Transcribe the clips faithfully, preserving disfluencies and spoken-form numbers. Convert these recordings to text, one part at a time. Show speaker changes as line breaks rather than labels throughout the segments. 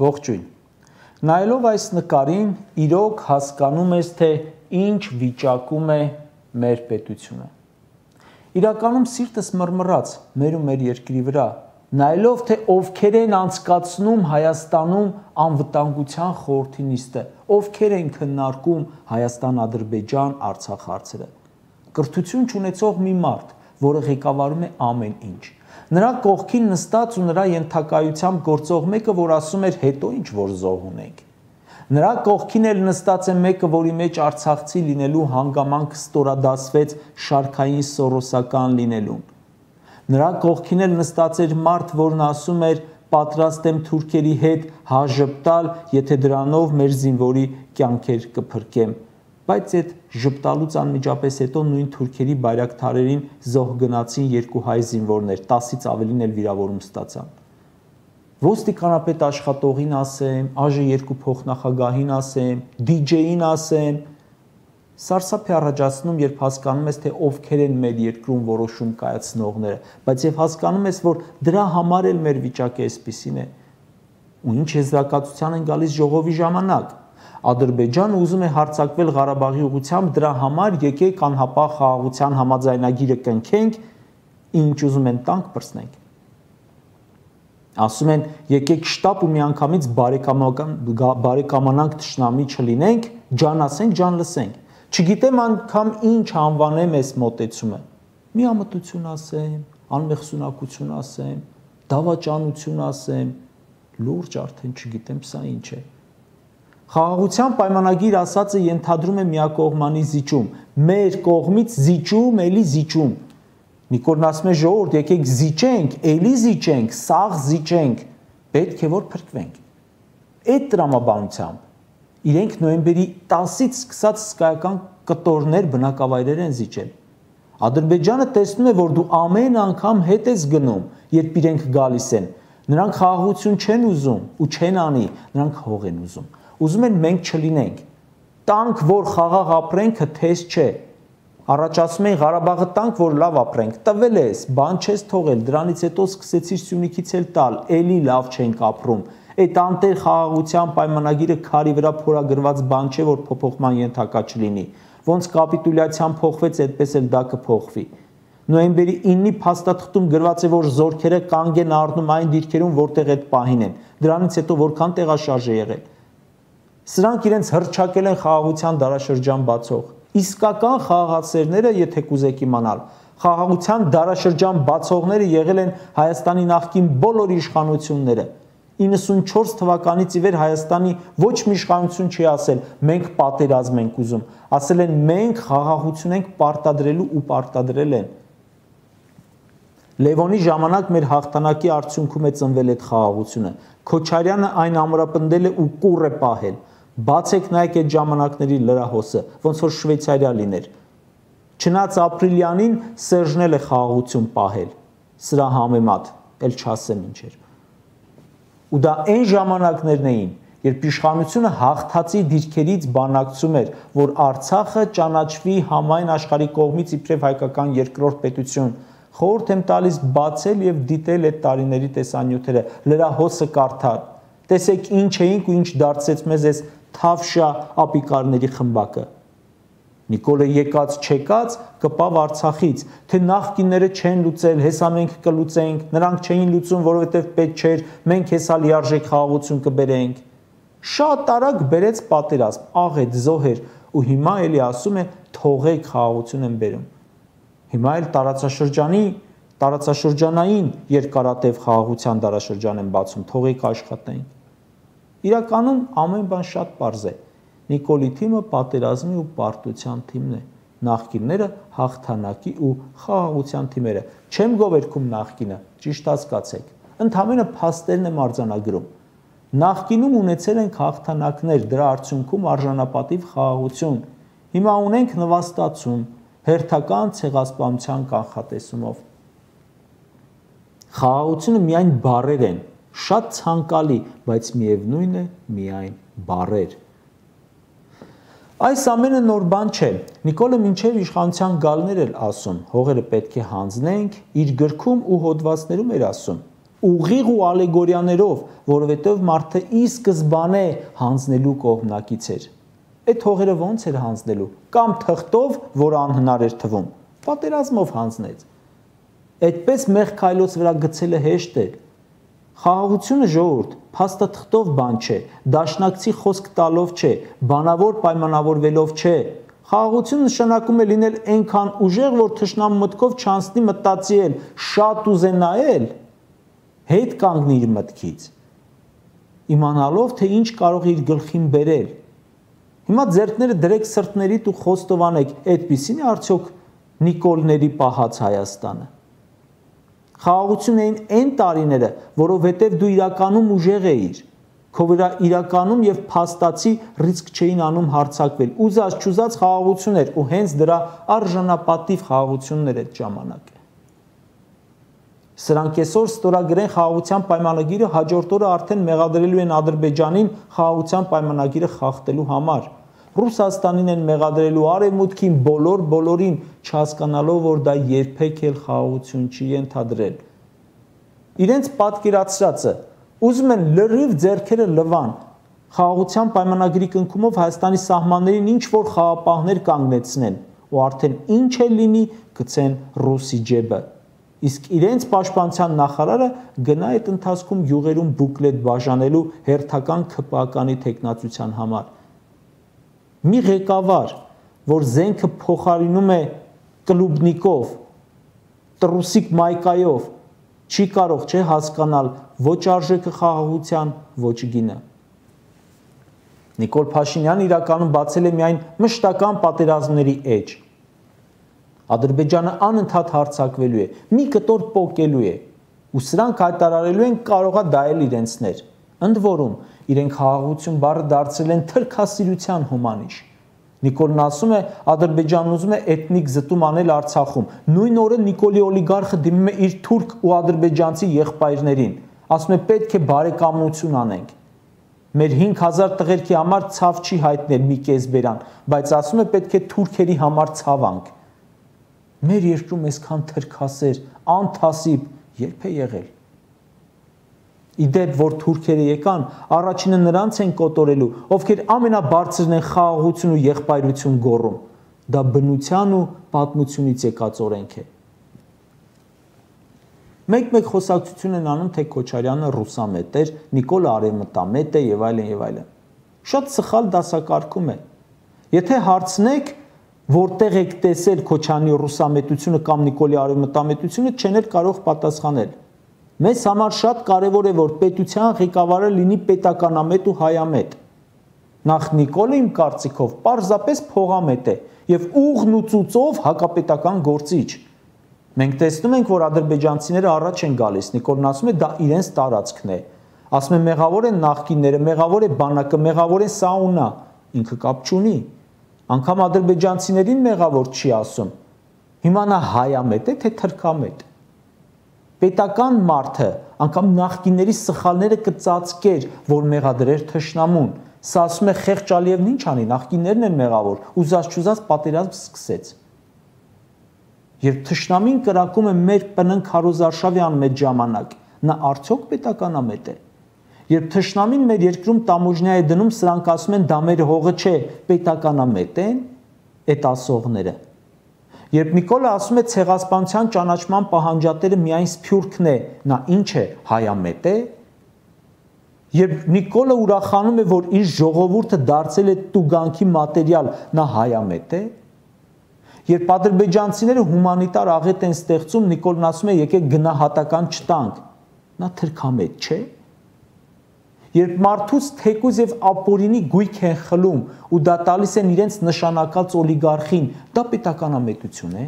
Ողջույն։ Նայելով այս նկարին, իրոք հասկանում ես, թե ինչ վիճակում է մեր պետությունը։ Իրականում սիրտս մռմռաց մեր ու մեր երկրի վրա, նայելով թե ովքեր են անցկացնում Հայաստանում անվտանգության խորհրդի նիստը, ովքեր են քննարկում Հայաստան-Ադրբեջան-Արցախ հարցերը։ Կրթություն չունեցող մի մարդ, որը ղեկավարում է ամեն ինչ։ Նրա կողքին նստած ու նրա ենթակայությամբ գործող մեկը, որ ասում էր հետո ինչ որ զոհ ունենք։ Նրա կողքին էլ նստած է մեկը, որի մեջ արցախցի լինելու հանգամանքը ստորադասվեց շարքային սորոսական լինելուն։ Նրա կողքին էլ նստած էր մարդ, որն ասում էր պատրաստ եմ թուրքերի հետ հաժպտալ, եթե դրանով մեր զինվորի կյանքեր կփրկեմ։ Բայց այդ ժպտալուց անմիջապես հետո նույն թուրքերի բայրակթարերին զոհ գնացին երկու հայ զինվորներ, տասից ավելին էլ վիրավորում ստացան։ Ոստիկանապետ աշխատողին ասեմ, ԱԺ երկու փոխնախագահին ասեմ, դիջեին ասեմ, սարսափ է առաջացնում, երբ հասկանում ես, թե ովքեր են մեր երկրում որոշում կայացնողները, բայց եւ հասկանում ես, որ դրա համար էլ մեր վիճակը այսպիսին է։ Ու ինչ եզրակացության են գալիս ժողովի ժամանակ։ Ադրբեջանը ուզում է հարձակվել Ղարաբաղի ուղղությամբ, դրա համար եկեք անհապաղ խաղաղության համաձայնագիրը կնքենք, ինչ ուզում են տանք պրծնենք։ Ասում են եկեք շտապ ու միանգամից բարեկամանանք թշնամի չլինենք, ջան ասենք, ջան լսենք։ Չգիտեմ անգամ ինչ անվանեմ այս մոտեցումը։ Միամտություն ասեմ, անմեղսունակություն ասեմ, դավաճանություն ասեմ, լուրջ արդեն չգիտեմ սա ինչ է։ Խաղաղության պայմանագիր ասածը ենթադրում է միակողմանի զիջում, մեր կողմից զիջում, էլի զիջում։ Նիկոլն ասում է ժողովուրդ, եկեք զիջենք, էլի զիջենք, սաղ զիջենք, պետք է որ փրկվենք։ Այդ տրամաբանությամբ իրենք նոյեմբերի տասից սկսած հսկայական կտորներ բնակավայրեր են զիջել։ Ադրբեջանը տեսնում է, որ դու ամեն անգամ հետ ես գնում, երբ իրենք գալիս են։ Նրանք խաղաղություն չեն ուզում ու չեն անի, նրանք հող են ուզում։ Ուզում են մենք չլինենք։ Տանք, որ խաղաղ ապրենք, թեզ չէ։ Առաջ ասում էին Ղարաբաղը տանք, որ լավ ապրենք։ Տվել ես, բան չես թողել, դրանից հետո սկսեցիր Սյունիքից էլ տալ, էլի լավ չենք ապրում։ Այդ անտեր խաղաղության պայմանագիրը քարի վրա փորագրված բան չէ, որ փոփոխման ենթակա չլինի։ Ոնց կապիտուլյացիան փոխվեց, այդպես էլ դա կփոխվի։ Նոյեմբերի իննի փաստաթղթում գրված է, որ զորքերը կանգ են առնում այն դիրքերում, որտեղ այդ պահին են։ Դրանից հետո որքան տեղաշարժ է եղել։ Սրանք իրենց հռչակել են խաղաղության դարաշրջան բացող։ Իսկական խաղաղացերները, եթե կուզեք իմանալ, խաղաղության դարաշրջան բացողները եղել են Հայաստանի նախկին բոլոր իշխանությունները։ իննսունչորս թվականից ի վեր Հայաստանի ոչ մի իշխանություն չի ասել մենք պատերազմ ենք ուզում, ասել են մենք խաղաղություն ենք պարտադրելու ու պարտադրել են։ Լևոնի ժամանակ մեր հաղթանակի արդյունքում է ծնվել այդ խաղաղությունը։ Քոչարյանը այն ամրապնդել է ու կուռ է պահել։ Բացեք նայեք այդ ժամանակների լրահոսը, ոնց որ Շվեյցարիա լիներ։ Չնայած ապրիլյանին Սերժն էլ է խաղաղություն պահել։ Սրա համեմատ, էլ չասեմ ինչ էր։ Ու դա այն ժամանակներն էին, երբ իշխանությունը հաղթածի դիրքերից բանակցում էր, որ Արցախը ճանաչվի համայն աշխարհի կողմից իբրև հայկական երկրորդ պետություն։ Խորհուրդ եմ տալիս բացել եւ դիտել այդ տարիների տեսանյութերը, լրահոսը կարդալ։ Տեսեք ինչ էինք ու ինչ դարձեց մեզ այս թավշյա ապիկարների խմբակը։ Նիկոլը եկած չեկած կպավ Արցախից, թե նախկինները չեն լուծել, հեսա մենք կլուծենք, նրանք չէին լուծում, որովհետև պետք չէր, մենք հեսա լիարժեք խաղաղություն կբերենք։ Շատ արագ բերեց պատերազմ, աղետ, զոհեր, ու հիմա էլի ասում է թողեք խաղաղություն են բերում։ Հիմա էլ տարածաշրջանի, տարածաշրջանային երկարատև խաղաղության դարաշրջան են բացում, թողեք աշխատենք։ Իրականում ամեն բան շատ պարզ է։ Նիկոլի թիմը պատերազմի ու պարտության թիմն է, նախկինները հաղթանակի ու խաղաղության թիմերը։ Չեմ գովերքում նախկինը, ճիշտ հասկացեք, ընդհանրապես փաստերն եմ արձանագրում։ Նախկինում ունեցել ենք հաղթանակներ, դրա արդյունքում արժանապատիվ խաղաղություն։ Հիմա ունենք նվաստացում, հերթական ցեղասպանության կանխատեսումով։ Խաղաղությունը միայն բառեր են, շատ ցանկալի, բայց միևնույն է միայն բառեր։ Այս ամենը նոր բան չէ։ Նիկոլը մինչև իշխանության գալն էր ասում, հողերը պետք է հանձնենք, իր գրքում ու հոդվածներում էր ասում։ ուղիղ ու ալեգորիաներով, որովհետև մարդը ի սկզբանե հանձնելու կողմնակից էր։ Այդ հողերը ո՞նց էր հանձնելու, կամ թղթով, որ անհնար էր թվում, պատերազմով հանձնեց։ Այդպես մեղ քայլոց վրա գցելը հեշտ է։ Խաղաղությունը ժողովուրդ, փաստաթղթով բան չէ, դաշնակցի խոսք տալով չէ, բանավոր պայմանավորվելով չէ։ Խաղաղությունը նշանակում է լինել այնքան ուժեղ, որ թշնամու մտքով չանցնի մտածել, շատ ուզենայել, հետ կանգնի իր մտքից, իմանալով, թե ինչ կարող է իր գլխին բերել։ Հիմա ձեռքները դրեք սրտներիդ ու խոստովանեք, այդպիսին է արդյոք Նիկոլների պահած Հայաստանը։ Խաղաղություն էին այն տարիները, որովհետև դու իրականում ուժեղ էիր, քո վրա իրականում եւ փաստացի ռիսկ չէին անում հարձակվել։ Ուզած չուզած խաղաղություն էր ու հենց դրա արժանապատիվ խաղաղություններ այդ ժամանակ։ Սրանք այսօր ստորագրեն խաղաղության պայմանագիրը, հաջորդ օրը արդեն մեղադրելու են Ադրբեջանին խաղաղության պայմանագիրը խախտելու համար։ Ռուսաստանին են մեղադրելու, Արևմուտքին, բոլոր բոլորին, չհասկանալով, որ դա երբեք էլ խաղաղություն չի ենթադրել։ Իրենց պատկերացրածը ուզում են լրիվ ձեռքերը լվան, խաղաղության պայմանագրի կնքումով Հայաստանի սահմաններին ինչ որ խաղապահներ կանգնեցնեն ու արդեն ինչ էլ լինի գցեն ռուսի ջեբը։ Իսկ իրենց պաշտպանության նախարարը գնա այդ ընթացքում յուղերում բուկլետ բաժանելու հերթական ՔՊԱ-կանի տեխնացության համար։ Մի ղեկավար, որ զենքը փոխարինում է կլուբնիկով, տրուսիկ մայկայով, չի կարող չէ հասկանալ ոչ արժեքը խաղաղության, ոչ գինը։ Նիկոլ Փաշինյանը իրականում բացել է միայն մշտական պատերազմների էջ։ Ադրբեջանը անընդհատ հարձակվելու է, մի կտոր պոկելու է, ու սրանք հայտարարելու են կարողա դա էլ իրենցներ։ Ընդ որում, իրենք խաղաղություն բառը դարձրել են թրքասիրության հոմանիշ։ Նիկոլն ասում է, Ադրբեջանն ուզում է էթնիկ զտում անել Արցախում։ Նույն օրը Նիկոլի օլիգարխը դիմում է իր թուրք ու ադրբեջանցի եղբայրներին։ Ասում է պետք է բարեկամություն անենք։ Մեր հինգ հազար տղերքի համար ցավ չի հայտնել մի կես բերան, բայց ասում է պետք է թուրքերի համար ցավանք։ Մեր երկրում այսքան թրքասեր, անթասիբ երբ է եղել։ Իդեպ, որ թուրքերը եկան, առաջինը նրանց են կոտորելու, ովքեր ամենաբարձրն են խաղաղություն ու եղբայրություն գոռում։ Դա բնության ու պատմությունից եկած օրենք է։ Մեկ-մեկ խոսակցություն են անում, թե Քոչարյանը ռուսամետ էր, Նիկոլը արևմտամետ է եւ այլն եւ այլն։ Շատ սխալ դասակարգում է։ Եթե հարցնեք, որտեղ եք տեսել Քոչարյանի ռուսամետությունը կամ Նիկոլի արևմտամետությունը, չեն էլ կարող պատասխանել։ Մեզ համար շատ կարևոր է, որ պետության ղեկավարը լինի պետականամետ ու հայամետ։ Նախ Նիկոլը իմ կարծիքով պարզապես փողամետ է եւ ուղն ու ծուծով հակապետական գործիչ։ Մենք տեսնում ենք, որ ադրբեջանցիները առաջ են գալիս, Նիկոլն ասում է դա իրենց տարածքն է։ Ասում է մեղավոր են նախկինները, մեղավոր է բանակը, մեղավոր է սաունա, ինքը կապ չունի։ Անկամ ադրբեջանցիներին մեղավոր չի ասում։ Հիմա նա հայամետ է, թե թրքամետ։ Պետական մարդը, անգամ նախկինների սխալները կծածկեր, որ մեղադրեր թշնամուն։ Սա ասում է Խեղճ Ալիևն ինչ անի, նախկիններն են մեղավոր, ուզած չուզած պատերազմ սկսեց։ Երբ թշնամին կրակում է մեր պննք Հարոզարշավյան այդ ժամանակ, նա արդյոք պետականամետ է։ Երբ թշնամին մեր երկրում տամոժնյա է դնում, սրանք ասում են դա մեր հողը չէ, պետականամետ են այդ ասողները։ Երբ Նիկոլը ասում է ցեղասպանության ճանաչման պահանջատերը միայն Սփյուռքն է, նա ինչ է, հայամետ է։ Երբ Նիկոլը ուրախանում է, որ իր ժողովուրդը դարձել է տուգանքի մատերիալ, նա հայամետ է։ Երբ ադրբեջանցիները հումանիտար աղետ են ստեղծում, Նիկոլն ասում է եկեք գնահատական չտանք, նա թրքամետ չէ։ Երբ մարդուց թեկուզ եւ ապօրինի գույք են խլում ու դա տալիս են իրենց նշանակած օլիգարխին, դա պետականամետություն է։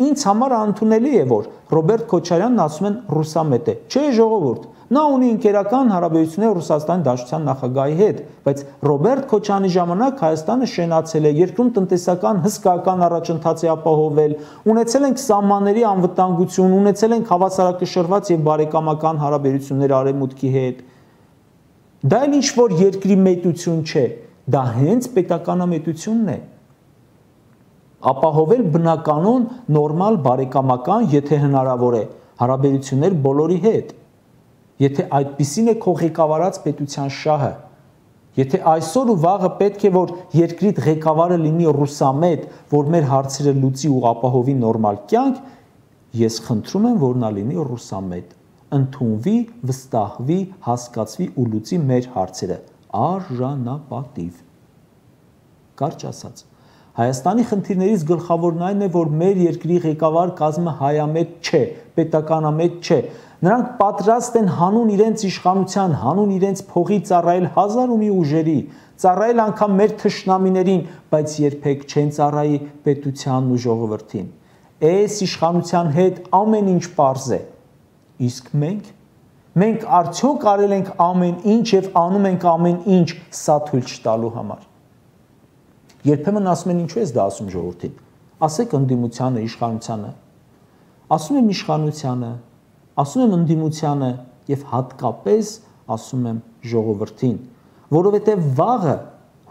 Ինձ համար անընդունելի է, որ Ռոբերտ Քոչարյանն ասում են ռուսամետ է։ Չէ, ժողովուրդ, նա ունի ընկերական հարաբերություններ Ռուսաստանի Դաշնության նախագահի հետ, բայց Ռոբերտ Քոչարյանի ժամանակ Հայաստանը շենացել է, երկրում տնտեսական հսկայական առաջընթաց է ապահովել, ունեցել ենք սահմանների անվտանգություն, ունեցել ենք հավասարակշռված եւ բարեկամական հարաբերություններ Արևմուտքի հետ։ Դա էլ ինչ որ երկրի մետություն չէ, դա հենց պետականամետությունն է։ Ապահովել բնականon նորմալ բարեկամական, եթե հնարավոր է, հարաբերություններ բոլորի հետ։ Եթե այդպիսին է քո ղեկավարած պետության շահը, եթե այսօր ու վաղը պետք է որ երկրիդ ղեկավարը լինի ռուսամետ, որ մեր հարցերը լուծի ու ապահովի նորմալ կյանք, ես խնդրում եմ, որ նա լինի ռուսամետ, ընդունվի, վստահվի, հասկացվի ու լուծի մեր հարցերը, արժանապատիվ։ Կարճ ասած, Հայաստանի խնդիրներից գլխավորն այն է, որ մեր երկրի ղեկավար կազմը հայամետ չէ, պետականամետ չէ։ Նրանք պատրաստ են հանուն իրենց իշխանության, հանուն իրենց փողի ծառայել հազար ու մի ուժերի, ծառայել անգամ մեր թշնամիներին, բայց երբեք չեն ծառայի պետությանն ու ժողովրդին։ Այս իշխանության հետ ամեն ինչ պարզ է։ Իսկ մենք, մենք արդյոք արել ենք ամեն ինչ եւ անում ենք ամեն ինչ սա թույլ չտալու համար։ Երբեմն ասում են ինչու ես դա ասում ժողովրդին։ Ասեք ընդդիմությանը, իշխանությանը։ Ասում եմ իշխանությանը, ասում եմ ընդդիմությանը եւ հատկապես ասում եմ ժողովրդին, որովհետեւ վաղը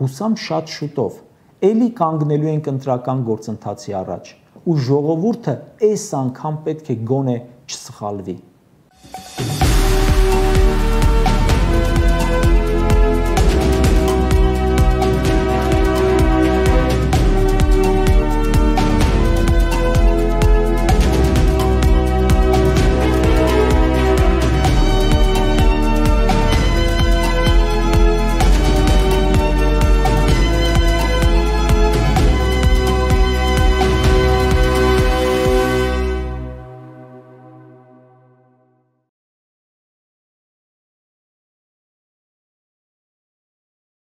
հուսամ շատ շուտով էլի կանգնելու ենք ընտրական գործընթացի առաջ ու ժողովուրդը այս անգամ պետք է գոնե չսխալվի։